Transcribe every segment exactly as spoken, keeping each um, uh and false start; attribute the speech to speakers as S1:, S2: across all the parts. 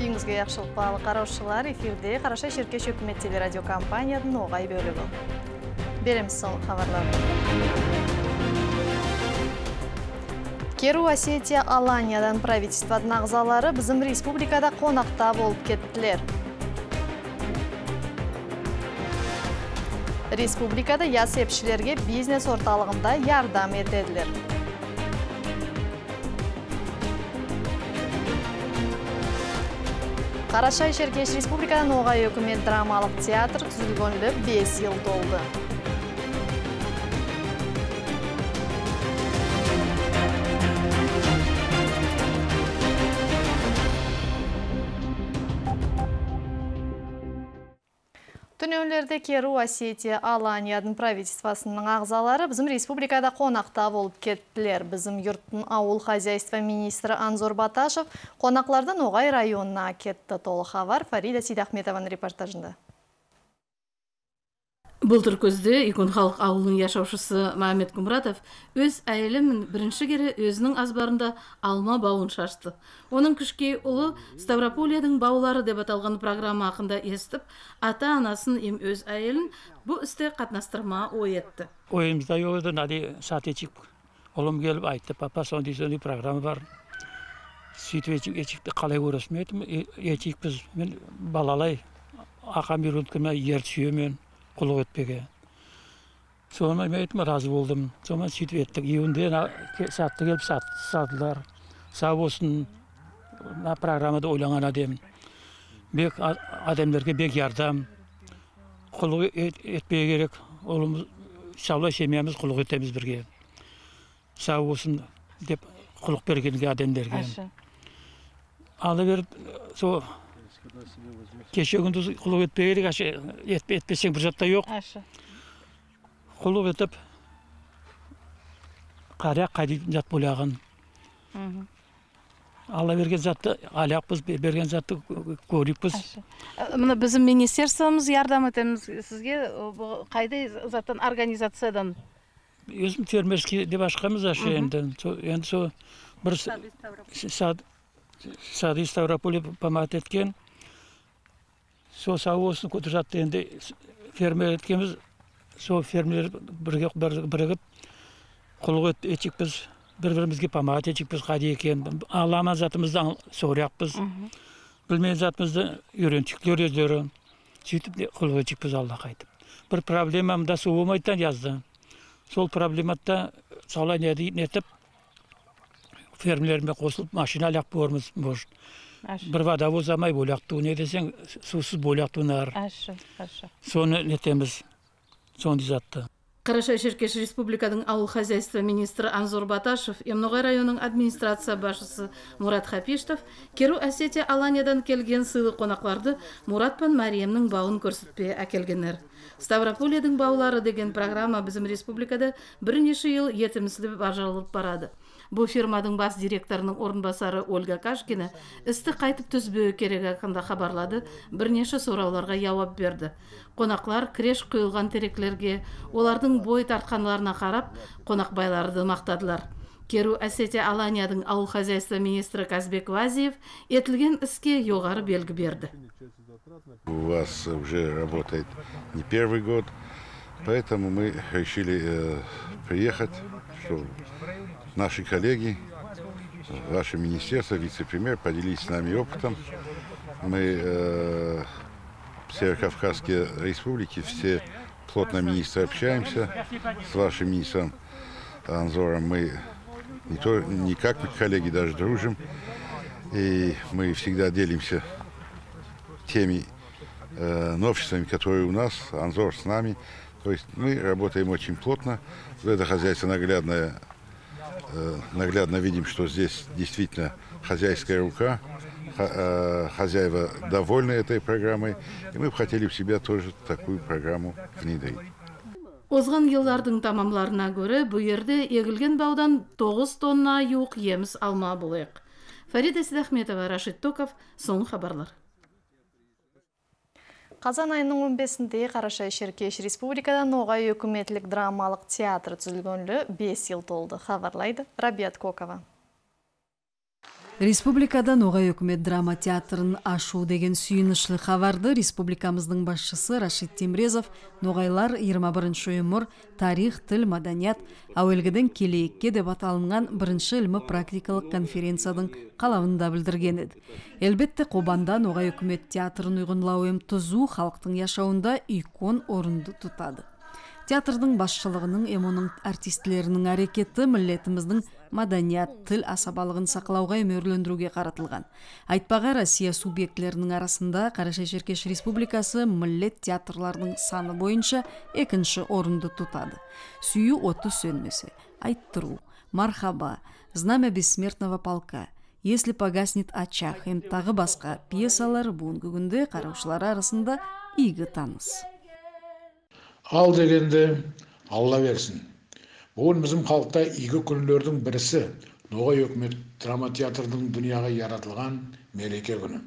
S1: Үйіңізге яқшылық балы қараушылар, эфирде Қараша Шеркеш өкімет телерадиокомпанияның оғай бөлігі. Береміз соң хабарлар. Керу Осетия Аланиядан правительстводың ағзалары біздің республикада қонақта болып кеттілер. Республикада яс епшілерге бизнес орталығында ярдам етеділер. Қарашай Шеркеш Республикадан оғай өкімет драмалық театр түзілгөнлі бес ел толды. Түнеулерде Керу Осетия Аланияның правительствосының ағзалары біздің республикада қонақта болып кеттілер. Біздің юрттың ауыл хозяйства министрі Анзор Баташев қонақлардан оғай районына кетті. Толы хабар Фарида Сейдахметованың репортажында.
S2: Бұлтыр көзде Икон халық ауылының яшаушысы Мамед Кумратов өз әйелімін бірінші кері өзінің азбарында алма бауын шашты. Оның кішкей ұлы Ставрополияның баулары деп аталған программа ақында естіп, ата-анасын ем өз әйелін бұл істе қатнастырма ой етті.
S3: Ойымызда ойды нади сатечік. Олым келіп айтты, папа сондай-сондай программа бар. Сөйтіп ечікті қалай көресім етім, ечік біз мен балалай ақам үйренткіме ер сүйемен. Құлық өтпеге. Соны мен айтым, разы болдым. Соны сөйтіп еттік. Еуінде сатты келіп сатылар. Сау болсын, программада ойланған адем. Бек адамдарға бек ярдам. Құлық етпеге керек. Олымыз, шаулай шемиямыз құлық өтеміз бірге. Сау болсын деп құлық бергенге адамдарға. Алы беріп, со кеше күндіз құлық өтпе керек, етпесең бір жатта жоқ. Құлық өтіп, қарияқ қайдейтін жат болағын. Алла берген затты алаяқпыз, берген затты көріппіз.
S2: Мұны біздің министерствомыз ярдам етеміз сізге қайдай заттан организациядан?
S3: Өзім фермерский деп ашқамыз ашы енді. Енді со бір Сады Ставрополе помат еткен. Со сау болсын көтір жатты енді фермер еткеніміз, со фермер бірігіп құлық етчікпіз, бір-бірімізге помат етчікпіз, қады екен. Аламан затымызды соғыряқпыз, білмеген затымызды үйренчіктер өздері. Сөйтіп құлық етчікпіз Алла қайтып. Бір проблемамда су болмайдан жазды. Сол проблематта саулай нетіп, фермелеріме қосылып, машина аяқ борымыз может. Бір водовоз амай болақту, не десең, сусыз болақтунар. Соны нетеміз, сонды затты.
S2: Қарашай Шеркеш Республиканың ауыл хозяйства министрі Анзор Баташев, Емноғай районының администрация башысы Мурат Хапиштов, Керу Осетия Аланиядан келген сыйлы қонақларды Мурат пен Мариемнің бауын көрсетпе әкелгенер. Ставрополияның баулары деген программа bizim республикада бірнеше ел етімізді бажарылып барады. Бұл фирманың бас директорының орынбасары Ольга Кашкина істі қайтып түзбеу керек ақында хабарлады, бірнеше сұрауларға жауап берді. Қонақлар креш құйылған тереклерге, олардың бой тартқанларына қарап, қонақбайларды мақтадылар. Керу Осетия Аланияның ауыл хозяйства министрі Казбек Вазиев етілген іске жоғары белгі берді.
S4: У вас уже работает не первый год, поэтому мы решили э, приехать, что наши коллеги, ваше министерство, вице-премьер поделились с нами опытом. Мы э, в Северокавказской республике все плотно министры общаемся. С вашим министром Анзором мы не, то, не как коллеги, даже дружим. И мы всегда делимся теми э, новшествами, которые у нас, Анзор с нами. То есть мы работаем очень плотно. Это хозяйство наглядное. Наглядно видим, что здесь действительно хозяйская рука, хозяева довольны этой программой, и мы бы хотели в себя тоже такую программу внедрить.
S2: Озған еллардың тамамларына көрі, бұл ерде егілген баудан тоғыз тонна юқ еміз алма болайық. Фарида Сейдахметова, Рашид Токов, соң хабарлар.
S1: Қазан айының он бесінде Қарашай Шеркеш Республикадан оғай өкіметлік драмалық театр түзілгөнлі бес ел толды, хабарлайды Рабиат Кокова.
S5: Республикада Ноғай өкімет драма театрын ашу деген сүйінішлі хабарды республикамыздың басшысы Рашид Темрезов Ноғайлар жиырма биринчи өмір, тарих, тіл, маданият, әуелгіден келейікке деп аталынған бірінші ілмі практикалық конференциядың қалауында білдірген еді. Әлбетте Қобанда Ноғай өкімет театрын ұйғынлау ем тұзу халықтың яшауында икон орынды тұтады. Театрдың басшылығының эмоның артистлерінің әрекеті миллетіміздің маданият, тіл асабалығын сақлауға өмірлендіруге қаратылған. Айтпаға Россия субъектлерінің арасында Қарашай-Черкеш Республикасы миллет театрларының саны бойынша екінші орынды тұтады. Сүйі оты сөнмесі, айттыру, мархаба, знамя бессмертного полка, если погаснет очаг, ем тағы басқа пьесалар бүгінгі күнде қараушылар арасында игі таныс.
S6: Ал дегенде Алла берсін. Бүгін біздің халықта игі күндердің бірісі Ноғай өкімет драма театрының дүнияға яратылған мереке күні.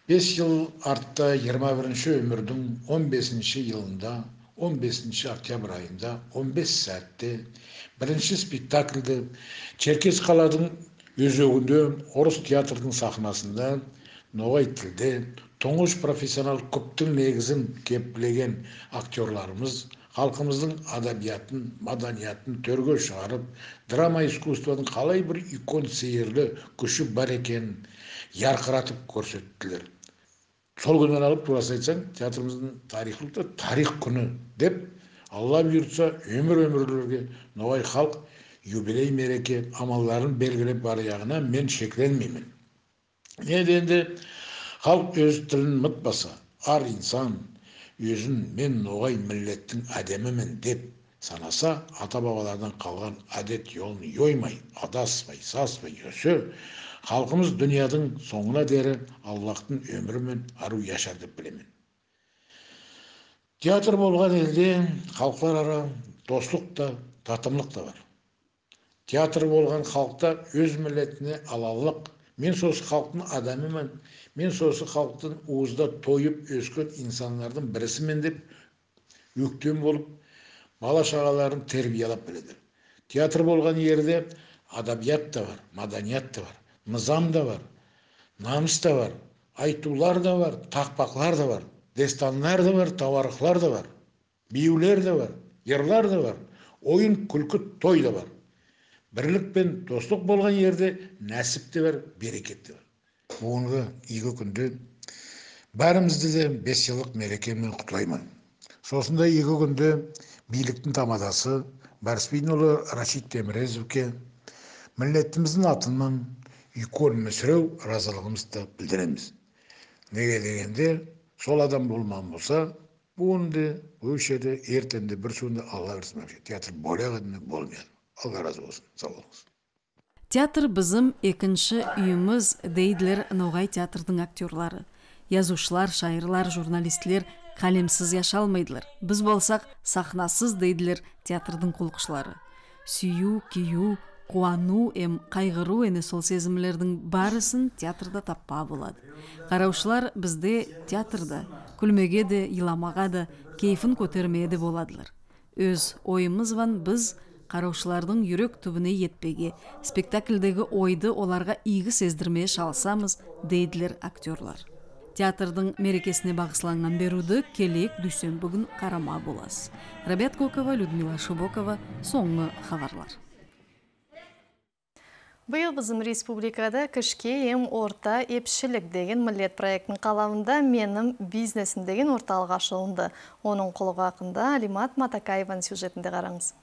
S6: бес жыл артта жиырма биринчи өмірдің он бесинчи жылында, он бесинчи октябрь айында, он бес сәтте бірінші спектакльді Черкес қаладың өзегінде орыс театрдың сахнасында Ноғай тілде тұңғыш профессионал көптің негізін кепілеген актерларымыз халқымыздың адабиятын, маданиятын төрге шығарып, драма искусствоның қалай бір икон сейірлі күші бар екенін ярқыратып көрсеттілер. Сол күннен алып турасы айтсаң, театрымыздың тарихында тарих күні деп, Алла бұйыртса өмір-өмірлерге Ноғай халық юбилей мереке амалдарын белгілеп бар яғына мен шекленмеймін. Не дегенде халық өз тілін ұмытпаса, ар инсан өзін мен Ноғай миллеттің әдемімін деп санаса, ата-бабалардан қалған әдет жолын йоймай, адаспай, саспай өсе, халқымыз дүниядың соңына дері Аллахтың өмірімен ару яшар деп білемін. Театр болған елде халықлар ара достық та, татымлық та бар. Театр болған халықта өз миллетіне алалық, мен сосы халықтың адамымен, мен сосы халықтың уызда тойып өскен инсанлардың бірісімен деп өктем болып, бала шағаларын тербиялап біледі. Театр болған ерде адабият та бар, маданият та бар, нызам да бар, намыс та бар, айтулар да бар, тақпақлар да бар, дестанлар да бар, таварықлар да бар, биюлер да бар, ерлар да бар, ойын, күлкі, той да бар. Бірлік пен достық болған ерде нәсіп те бар, берекет те бар. Бүгінгі игі күнде бәрімізді де бес жылдық мерекемен құттықтаймын. Сосында игі күнде биліктің тамадасы Барыспин ұлы Рашид Темрезовке миллетіміздің атынан икон мүсіреу разылығымызды білдіреміз. Неге дегенде сол адам болман болса, бүгінде, өшеді, ертенде бір суында Алла берсін. Театр болеғадыны болмайды. Алла разы болсын. Сау болыңыз.
S5: Театр бізім екінші үйіміз дейділер Ноғай театрдың актерлары. Язушылар, шайырлар, журналистлер қалемсіз яшалмайдылар. Біз болсақ сахнасыз дейділер театрдың құлқышылары. Сүйу, кию, қуану, эм қайғыру әне сол сезімлердің барысын театрда таппа болады. Қараушылар бізде театрда, күлмеге де, иламаға да, кейфін көтермеге де боладылар. Өз ойымыз ван біз қараушылардың жүрек түбіне етпеге, спектакльдегі ойды оларға игі сездірмeye шалсамыз, дейділер актерлар. Театрдың мерекесіне бағысланған беруді келек дүйсен бүгін қарама болас. Рабят Кокова, Людмила Шубокова, соңғы хабарлар.
S1: Бұйыл біздің республикада кішке ем орта епшілік деген миллет проекттің қалауында менің бизнесім деген орталық ашылынды. Оның құлығы ақында Алимат Матакаеван сюжетінде қараңыз.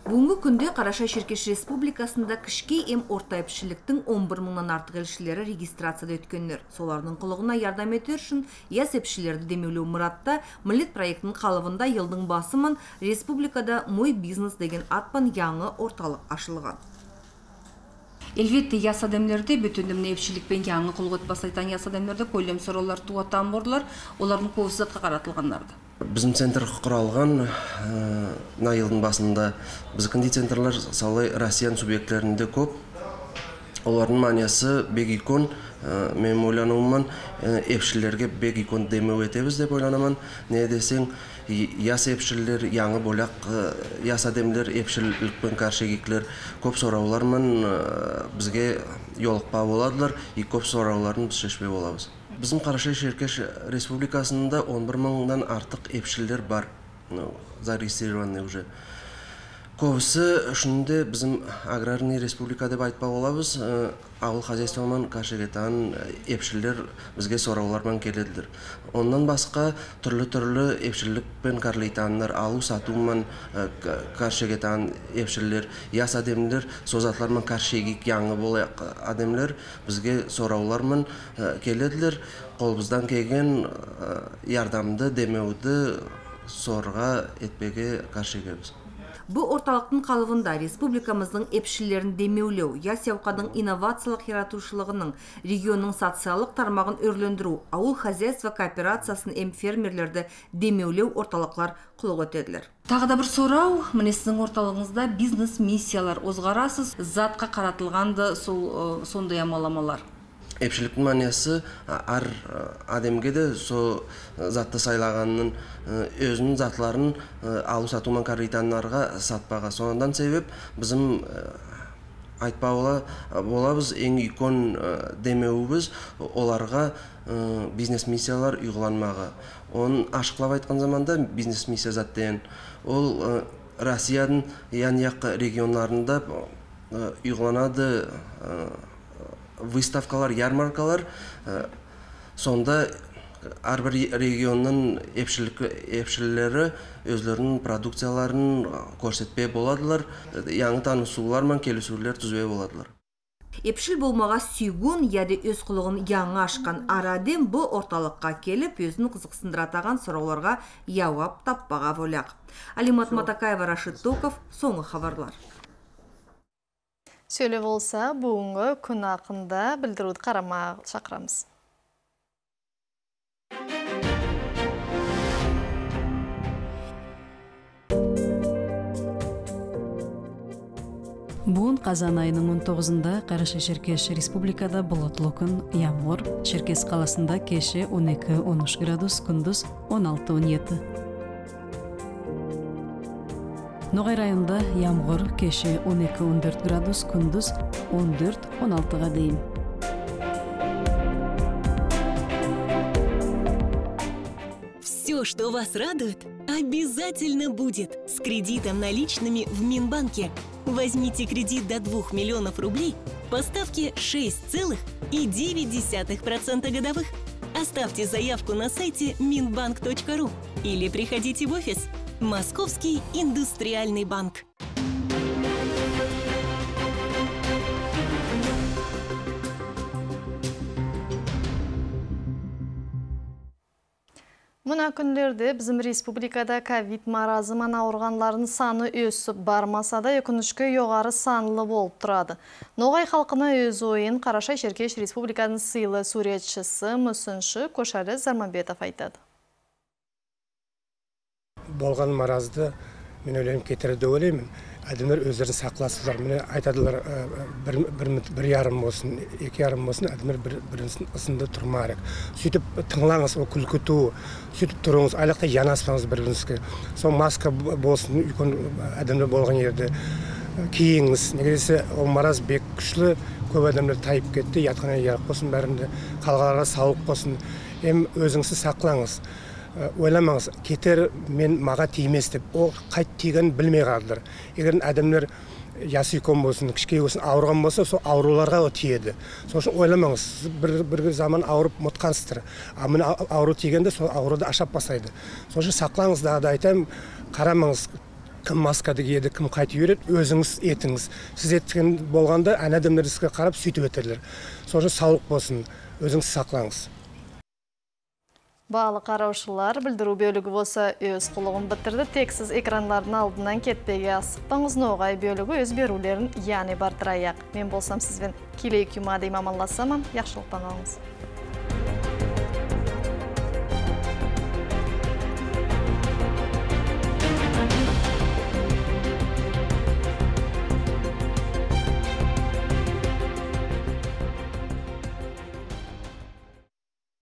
S7: Бүгінгі күнде Қарашай-Черкеш Республикасында кішке ем орта епшіліктің он бір мыңнан артық елшілері регистрацияда өткендер. Солардың құлығына ярдам етер үшін яс епшілерді демеулеу мұратта миллет проекттің қалыбында елдің басымын республикада мой бизнес деген атпан яңы орталық ашылған. Elbette yas adamlarda bütünümne epçilikpen yaңы кулгут басайтан yas adamlarda көйлем сораулар туаттан борлар, олардың көбісі затқа қаратылғанларды.
S8: Bizim центр құралған на жылдың басында біздің центрлар салы Россиян субъектлерінде көп. Олардың маниясы бек икон, мен ойлануыман епшілерге бек икон демеу етебіз деп ойланаман. Не десең, яс епшілер, яңы боляқ, яс адемлер, епшілікпен каршегеклер көп сораулармен бізге yoluqpa боладылар, и көп сорауларын біз шешпей болабыз. Bizim Қарашай-Шеркеш республикасында он bir мыңнан артық епшілер бар, зарегистрированный уже. Көбісі үшінде біздің аграрный республика деп айтпа болабыз, ауыл хозяйствоман каршегетан епшілер бізге сораулармен келеділер. Ондан басқа түрлі-түрлі епшілікпен карлейтанлар, алу сатумен каршегетан епшілер, яс адемлер, созатлармен каршегик яңы болы адемлер бізге сораулармен келеділер. Қолбыздан келген ярдамды, демеуді сорға етпеге каршегебіз.
S7: Бұл орталықтың қалыбында республикамыздың епшілерін демеулеу, яс яуқадың инновациялық яратушылығының, регионның социалық тармағын өрлендіру, ауыл хозяйство кооперациясын эм фермерлерді демеулеу орталықлар құлық өтеділер. Тағы да бір сорау, міне сіздің орталығыңызда бизнес миссиялар озғарасыз, затқа қаратылғанды сол сондай амаламалар.
S8: Епшіліктің маниясы ар адемге де со затты сайлағанның өзінің затларын алу сатумен каританларға сатпаға. Сондан себеп біздің айтпа болабыз ең икон демеуіміз оларға бизнес миссиялар ұйғыланмаға. Оның ашықлап айтқан заманда бизнес миссия заттен ол Россияның ян-яқ регионларында ұйғыланады выставкалар, ярмаркалар, сонда әрбір регионның епшілері өзлерінің продукцияларын көрсетпей боладылар, яңы танысулар мен келісулер түзбей боладылар.
S7: Епшіл болмаға сүйгін, яды өз құлығын яңы ашқан араден бұл орталыққа келіп, өзінің қызықсындыратаған сұрауларға яуап таппаға воляқ. Алимат Матакаева, Рашид Токов, соңғы хабарлар.
S1: Сөйле болса, бүгінгі күн ақында білдіруді қарама шақырамыз.
S5: Бүгін қазан айының он тоғызында Қарашай-Шеркеш республикада бұлытлы күн, ямғыр, Шеркес қаласында кеше он екі он үш градус, күндіз он алты он жеті. Ноғай районда ямғыр, кеше он екі он төрт градус, күндіз он төрт он алтыға дейін.
S9: Все, что вас радует, обязательно будет с кредитом наличными в Минбанке. Возьмите кредит до двух миллионов рублей по ставке шесть целых девять десятых процента годовых. Оставьте заявку на сайте минбанк точка ру или приходите в офис. Московский индустриальный банк.
S1: Мұна күндерде біздің республикада ковид маразыман ауырғанлардың саны өсіп бармаса да өкінішке жоғары санлы болып тұрады. Ноғай халқына өз ойын Қарашай-Шеркеш республиканың сыйлы суретшісі, мүсінші Көшәрі Зарманбетов айтады.
S10: Болған маразды мен ойлаймын кетірді ойлаймын. Әдімдер өздері сақласыздар. Мені айтадылар бір ярым болсын, екі ярым болсын, әдімдер бірінсін ысынды тұрмарек. Сөйтіп тыңлаңыз, о күлкіту, сөйтіп тұрыңыз, айлақта янаспаңыз бір-біріңізге. Сол маска болсын, үйкон әдімдер болған ерді кейіңіз. Негедесе ол мараз бек күшлі, көп әдімдер тайып кетті, ятқана ярық болсын, бәрінде қалғаларға сауық болсын. Ем өзіңізді сақлаңыз. Ойламаңыз, кетер мен маға тиемес деп, ол қайт тиген білмей қалдыр. Егер адамдар ясы икон болсын, кішкей болсын, ауырған болса, сол ауруларға о тиеді. Сол үшін ойламаңыз, бір заман ауырып мұтқансыздар. А мені ауру тигенде сол ауруды ашап басайды. Сол үшін сақлаңыз да айтайым, қарамаңыз, кім маскады киеді, кім қайты үйрет, өзіңіз етіңіз. Сіз еттіген болғанда, ән адамдар сізге қарап сөйтіп өтерлер. Сол үшін саулық болсын, өзіңіз сақлаңыз.
S1: Бағалы қараушылар білдіру бөлігі болса өз құлығын бітірді. Тексіз экранлардың алдынан кетпеге асықпаңыз. Ноғай бөлігі өз берулерін яны бартыраяқ. Мен болсам сізбен келей күмады имамаласамам. Яқшылықтан алыңыз.